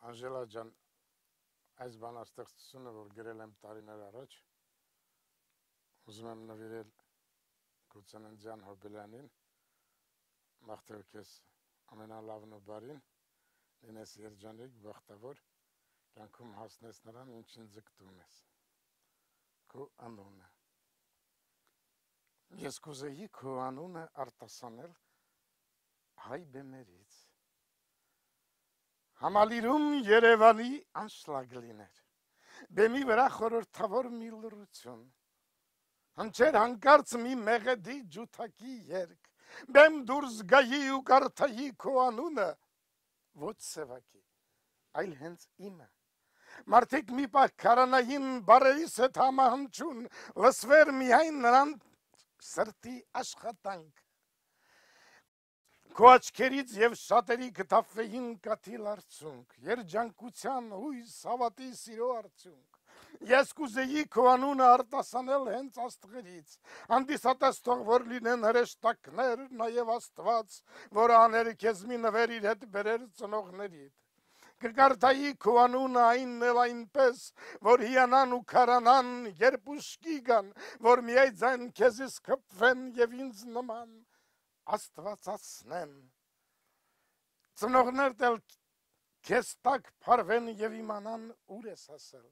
Անժելա ջան, այս բանաստեղծությունը, որ գրել եմ տարիներ առաջ, ուզում եմ նվիրել Գուցեննձյան Հոբելյանին, մաղթել քեզ ամենալավն ու բարին, լինես երջանիկ, բախտավոր, կյանքում հասնես նրան, ինչին ձգտում ես, քո անունը։ Ես կուզեի քո անունը արտասանել հայ բեմերից, համալիրում Երևանի անշլագ լիներ, բեմի վրա խորհրդավոր մի լռություն, հնչեր հանկարծ մի մեղեդի ջութակի երգ, բեմ դուրս գայի ու կարդայի քո անունը, ոչ սևակի, այլ հենց իմը, մարդիկ մի պահ քարանային բարերիս հետ համահնչուն, լսվեր միայն նրան սրտի աշխատանք, քո աչքերից և շատերի կթափվեին կաթիլ արցունք, երջանկության, հույս, հավատի, սիրո արդյունք, ես կուզեի քո անունը արտասանել հենց աստղերից, հանդիսատես թող որ լինեն հրեշտակներ, նաև Աստված, որ աներ քեզ մի նվեր իր հետ բերեր ծնողներիդ, կկարդայի քո անունը այնն էլ այնպես, որ հիանան ու քարանան, երբ ուշքի գան, որ միայն քեզից խփվեն և ինձ նման աստվածացնեն, ծնողներդ էլ քեզ տակ փարվեն և իմանան ուր ես հասել,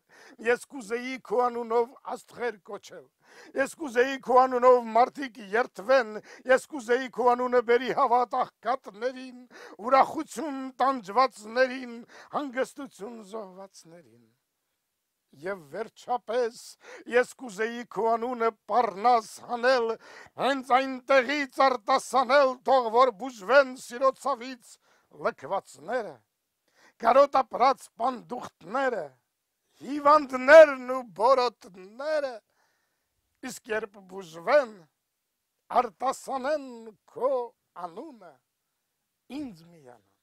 ես կուզեի քո անունով աստղեր կոչել, ես կուզեի քո անունով մարդիկ երդվեն, ես կուզեի քո անունը բերի հավատ աղքատներին, ուրախություն տանջվածներին, հանգստություն զոհվածներին, և վերջապես ես կուզեի քո անունը պառնաս հանել, հենց այնտեղից արտասանել, թող որ բուժվեն սիրո ցավից լքվածները, կարոտ ապրած պանդուխտները, հիվանդներն ու բորոտները, իսկ երբ բուժվեն, արտասանեն քո անունը ինձ միանա։